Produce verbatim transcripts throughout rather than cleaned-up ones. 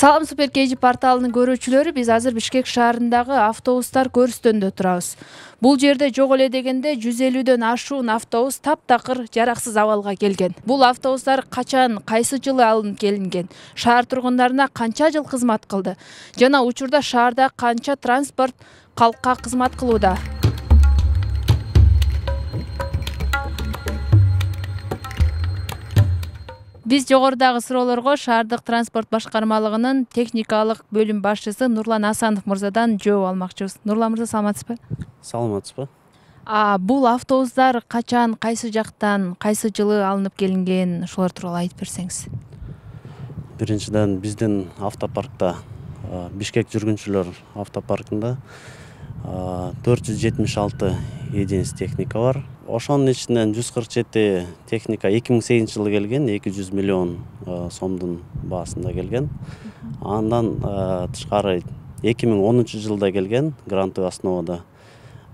Салам Супер Кей Жи порталынын көрүүчүлөрү, биз азыр Бишкек шаарындагы автобустар көрүстөндө турабыз. Бул жерде жок эле дегенде жүз элүүдөн ашуун автобус таптакыр жараксыз абалга келген. Бул автобустар качан, кайсы жылы алынып келинген, шаар тургундарына канча жыл кызмат кылды жана учурда шаарда канча транспорт калкка кызмат кылууда? Биз жогорудагы суроолорго шаардык транспорт башкармалыгынын техникалык бөлүм башчысы Нурлан Асанов мырзадан жооп алмакчыбыз. Нурлан мырза, саламатсызбы? Саламатсызбы? А бул автобустар качан, кайсы жактан, кайсы жылы алынып келинген, ошолор тууралуу айтып берсеңиз. Биринчиден, биздин автопаркта, Бишкек жүргүнчүлөр автопаркында төрт жүз жетимиш алты единиц техника бар. Ошонун ичинен жүз кырк жети техника эки миң сегизинчи жылы келген, эки жүз миллион сомдун баасында келген. Андан тышкары эки миң онунчу жылда келген грантовый основада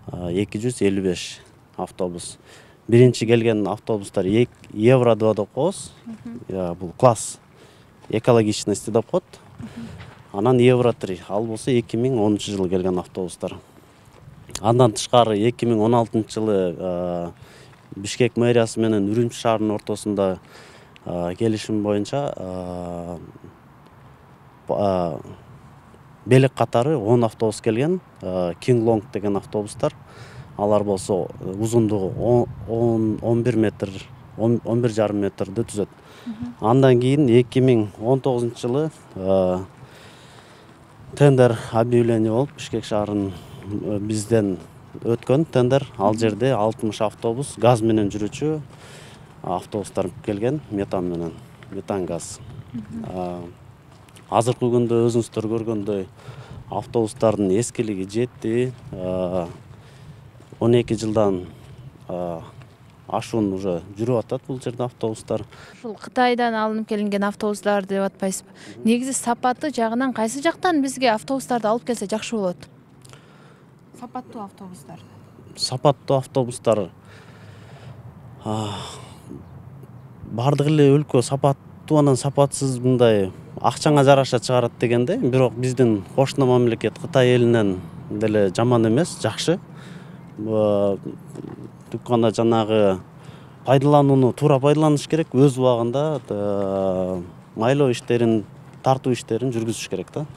эки жүз элүү беш автобус. Биринчи келген автобустар Евро два деп коебуз. Бул класс экологичности деп коет. Анан Евро три, ал болсо эки миң онунчу жылы келген автобустар. Андан тышкары эки миң он алтынчы жылы Бишкек мэриясы менен Үрүмчү шаарынын ортосунда келишим боюнча белек катары он автобус келген, King Long деген автобустар. Алар болсо узундугу он бир метр, он бир жарым метрди түзөт. Андан кийин эки миң он тогузунчу жылы тендер объявление болуп, Бишкек шаарынын бизден өткөн тендер. Ал жерде алтымыш автобус газ менен жүрүүчү автобустар келген, метан менен, метан газ. Азыркы күндө өзүңүздөр көргөндөй автобустардын эскилиги жетти, он эки жылдан ашуун уже жүрүп атат бул жерде автобустар. Ушул Кытайдан алынып келинген автобустар деп атпайсызбы? Негизи сапаты жагынан кайсы жактан бизге автобустарды алып келсе жакшы болот? Сапаттуу автобустар. Сапаттуу автобустар бардык эле өлкө сапаттуу анан сапатсыз мындай акчаңа жараша чыгарат дегенде, бирок биздин кошуна мамлекет Кытай элинен деле жаман эмес, жакшы. Түп гана жанагы пайдаланууну туура пайдаланыш керек, өз убагында майлоо иштерин, тартуу иштерин жүргүзүш керек да.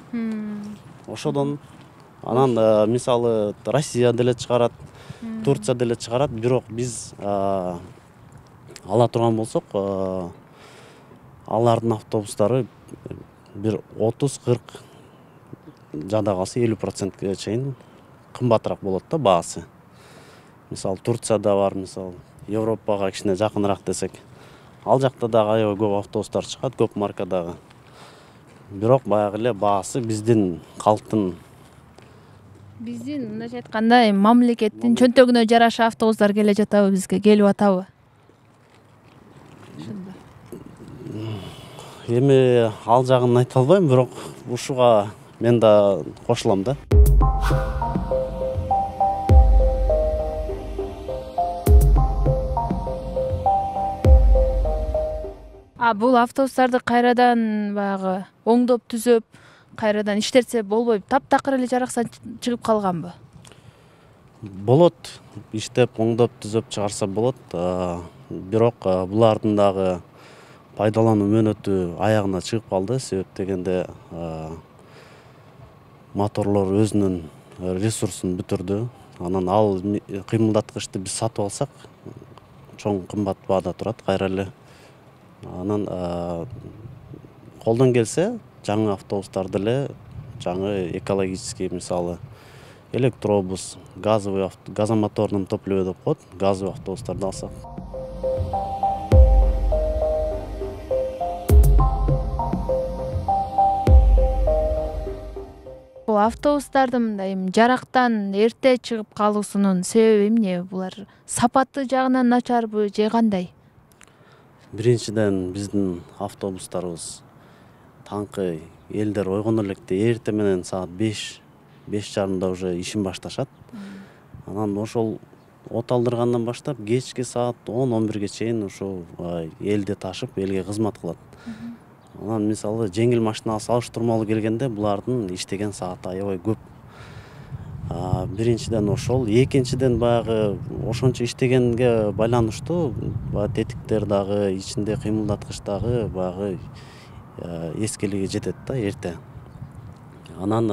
Ошодон анан мисалы Россия деле чыгарат, Турция деле чыгарат, бирок биз ала турган болсок, алардын автобустары бир отуз кырк жада калса элүү процентке чейин кымбатыраак болот да баасы. Мисалы Турцияда бар, мисалы Европага кичине жакыныраак десек. Ал жакта дагы аябай көп автобустар чыгат, көп маркадагы. Бирок баягы эле баасы биздин калктын, биздин мындайча айтканда мамлекеттин чөнтөгүнө жараша автобустар келе жатабы бизге, келип атабы? Эми ал жагын айта албайм, бирок ушуга мен да кошулам да. А бул автобустарды кайрадан баягы оңдоп түзөп, кайрадан иштетсе болбойбу? Таптакыр эле жараксан чыгып калганбы? Болот, иштеп, оңдоп түзөп чыгарса болот. Бирок булардын дагы пайдалануу мөөнөтү аягына чыгып калды. Себеп дегенде моторлор өзүнүн ресурсун бүтүрдү. Анан ал кыймылдаткычты биз сатып алсак, чоң кымбат баада турат кайра эле. Анан колдон келсе, жаңы автобустарды эле, жаңы экологический, мисалы электробус, газовый, газомоторный топливо деп коет, газовый автобустарды алсак. Бул автобустардын мындай жарактан эрте чыгып калуусунун себеби эмне? Булар сапаты жагынан начарбы же кандай? Биринчиден, биздин автобустарыбыз таңкы элдер ойгоно электе эрте менен саат беш, беш жарымда уже ишин башташат. Анан ошол от алдыргандан баштап кечки саат он он бирге чейин ошол элди ташып, элге кызмат кылат. Анан мисалы жеңил машинага салыштырмалуу келгенде булардын иштеген сааты аябай көп. Биринчиден ошол, экинчиден баягы ошончо иштегенге байланыштуу баягы тетиктер дагы, ичинде кыймылдаткыч дагы баягы эскилиги жетет да эрте. Анан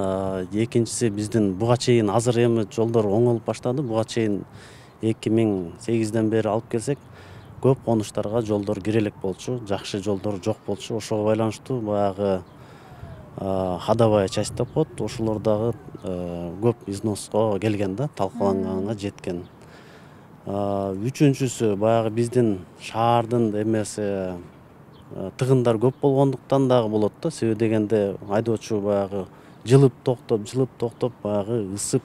экинчиси биздин буга чейин азыр эми жолдор оңолуп баштады. Буга чейин эки миң сегизден бери алып келсек, көп конуштарга жолдор кире элек болчу, жакшы жолдор жок болчу. Ошого байланыштуу баягы ходовая часть деп коет, ошолор дагы көп износко келген да, талкаланганга жеткен. Үчүнчүсү баягы биздин шаардын эмеси тыгындар көп болгондуктан дагы болот да. Себеби дегенде айдоочу баягы жылып токтоп, жылып токтоп баягы ысып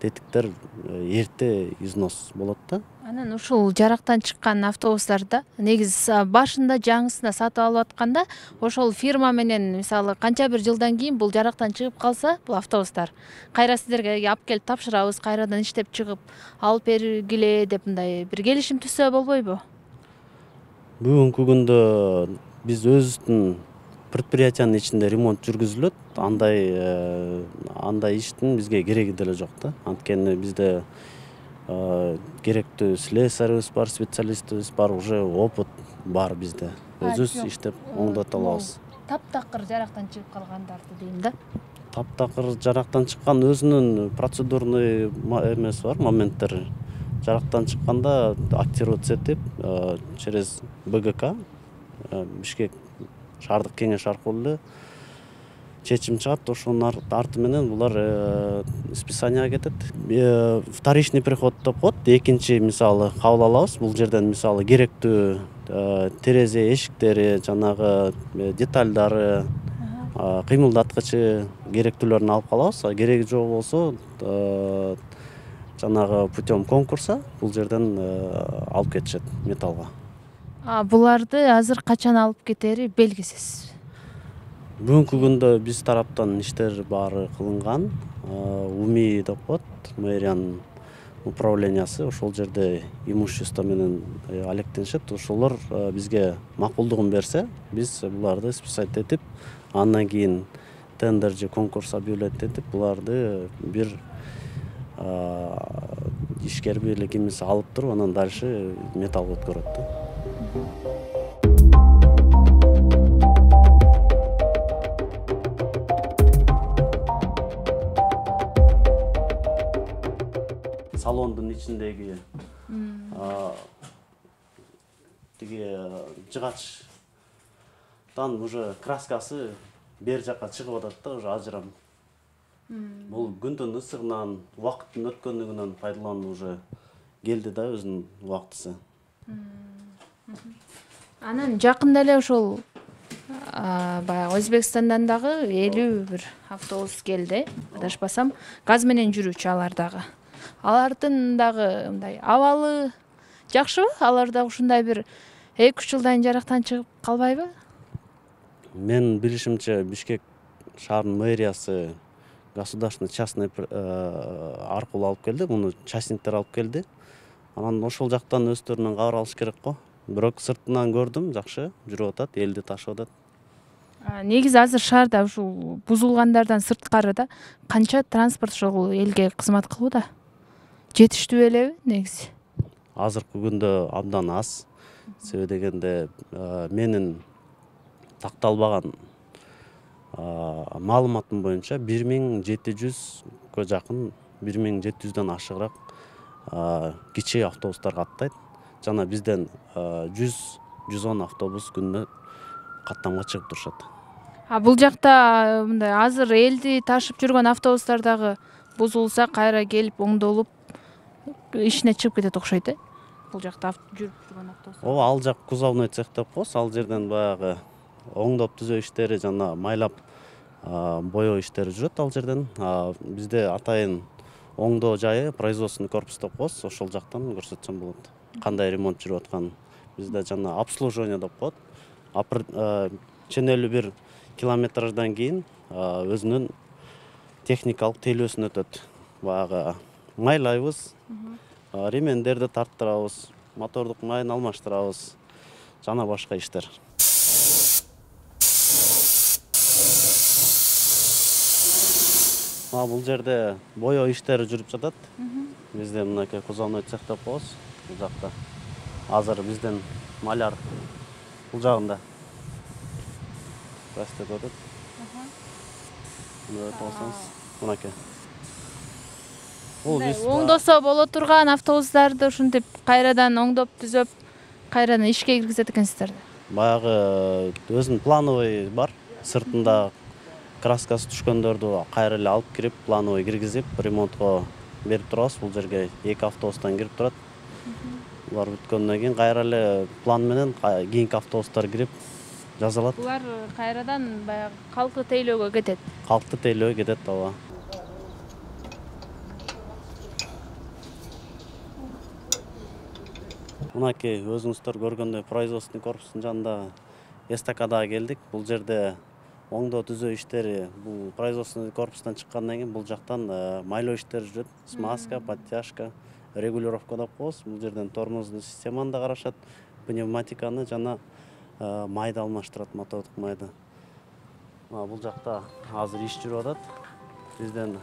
тетиктер эрте износ болот да. Анан ушул жарактан чыккан автобустарда негизи башында жаңысына сатып алып атканда ошол фирма менен мисалы канча бир жылдан кийин бул жарактан чыгып калса, бул автобустар кайра сиздерге алып келип тапшырабыз, кайрадан иштеп чыгып алып бергиле деп мындай бир келишим түзсө болбойбу? Бүгүнкү күндө биз өзүбүздүн предприятиянын ичинде ремонт жүргүзүлөт. Андай андай иштин бизге кереги деле жок да. Анткени бизде керектүү слесарыбыз бар, специалистибиз бар, уже опыт бар бизде. Өзүбүз иштеп оңдото алабыз. Таптакыр жарактан чыгып калгандарды дейм да. Таптакыр жарактан чыккан өзүнүн процедурный эмеси бар, моменттери. Жарактан чыкканда актироваться этип, через БГК, Бишкек шаардык кеңеш аркылуу эле чечим чыгат. Ошонун арты менен булар списанияга кетет. Вторичный приход деп коет. Экинчи мисалы кабыл алабыз. Бул жерден мисалы керектүү терезе эшиктери, жанагы детальдары, кыймылдаткычы керектүүлөрүн алып калабыз. Кереги жок болсо жанагы путем конкурса бул жерден алып кетишет металлга. Буларды азыр качан алып кетери белгисиз. Бүгүнкү күндө биз тараптан иштер баары кылынган. УМИ деп коет, мэриянын управлениясы, ошол жерде имущество менен алектенишет. Ошолор бизге макулдугун берсе, биз буларды списать этип, андан кийин тендер же конкурс объявлять этип, буларды бир ишкер бийлигибиз алып туруп, анан дальше металлга өткөрөт да. Салондун ичиндеги тиги жыгачтан уже краскасы бер жакка чыгып атат да, уже ажырам. Бул күндүн ысыгынан, убакыттын өткөндүгүнөн пайдалануу уже келди да өзүнүн убактысы. Анан жакында эле ошол баягы Өзбекстандан дагы элүү бир автобус келди, адашпасам, газ менен жүрүүчү алар дагы. Алардын дагы мындай абалы жакшыбы? Алар дагы ушундай бир эки үч жылдан жарактан чыгып калбайбы? Мен билишимче Бишкек шаарынын мэриясы государственный частный аркылуу алып келди, муну частниктер алып келди. Анан ошол жактан өздөрүнөн кабар алыш керек го. Бирок сыртынан көрдүм, жакшы жүрүп атат, элди ташып атат. Негизи азыр шаарда ушул бузулгандардан сырткары да канча транспорт ошол элге кызмат кылууда? Жетиштүү элеби негизи? Азыркы күндө абдан аз. Себеби дегенде менин такталбаган маалыматым боюнча бир миң жети жүзгө жакын, бир миң жети жүздөн ашыгыраак кичи автобустар каттайт. Жана бизден жүз жүз он автобус күнүнө каттамга чыгып турушат. А бул жакта мындай азыр элди ташып жүргөн автобустар дагы бузулса кайра келип оңдолуп ишине чыгып кетет окшойт э? Бул жакта жүрүп жүргөн автобустар. Ооба, ал жак кузовной цех деп коебуз. Ал жерден баягы оңдоп түзөө иштери, жана майлап боёо иштери жүрөт ал жерден. Бизде атайын оңдоо жайы производственный корпус деп коебуз. Ошол жактан көрсөтсөм болот. Кандай ремонт жүрүп атканын. Бизде жана обслуживание деп коет. Ченелүү бир километрдан кийин өзүнүн техникалык тейлөөсүн өтөт. Баягы майлайбыз, ремендерди тарттырабыз, мотордук майын алмаштырабыз, жана башка иштер. Бул жерде бояу иштери жүрүп жатат. Бизде мынакей кузовной цех деп коебуз. Бул жакта азыр биздин маляр бул жагында пластик өтөт. Мына өтүп алсаңыз, мынакей. Бул биз оңдосо боло турган автобустарды ушинтип кайрадан оңдоп түзөп, кайрадан ишке киргизет экенсиздер. Баягы өзүнүн плановый бар. Сыртында краскасы түшкөндөрдү кайра эле алып кирип, плановый киргизип, ремонтко берип турабыз. Бул жерге эки автобустан кирип турат. Булар бүткөндөн кийин кайра эле план менен кийинки автобустар кирип жасалат. Булар кайрадан баягы калкты тейлөөгө кетет. Калкты тейлөөгө кетет, ооба. Мынакей өзүңүздөр көргөндөй производственный корпустун жанында эстакадага келдик. Бул жерде оңдоо түзөө иштери, бул производственный корпустан чыккандан кийин бул жактан майлоо иштери жүрөт. Смазка, подтяжка, регулировка деп коебуз. Бул жерден тормоздун системаны да карашат, пневматиканы жана майды алмаштырат, мотордук майды. Бул жакта азыр иш жүрүп атат. Бизден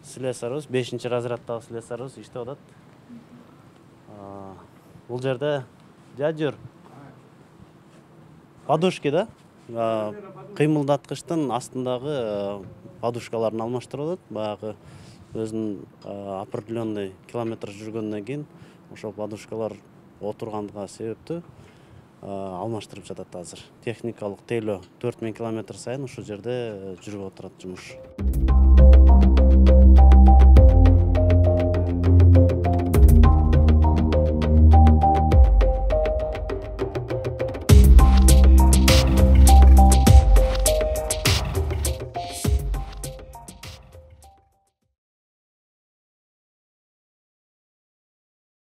слесарыбыз, бешинчи разряддагы слесарыбыз иштеп атат. Бул жерде жажыр подушки да, кыймылдаткычтын астындагы подушкаларын алмаштырып атат. Баягы өзүнүн определенный километр жүргөндөн кийин ошол подушкалар отургандыгы себептүү алмаштырып жатат азыр. Техникалык тейлөө төрт миң километр сайын ушул жерде жүрүп отурат жумуш.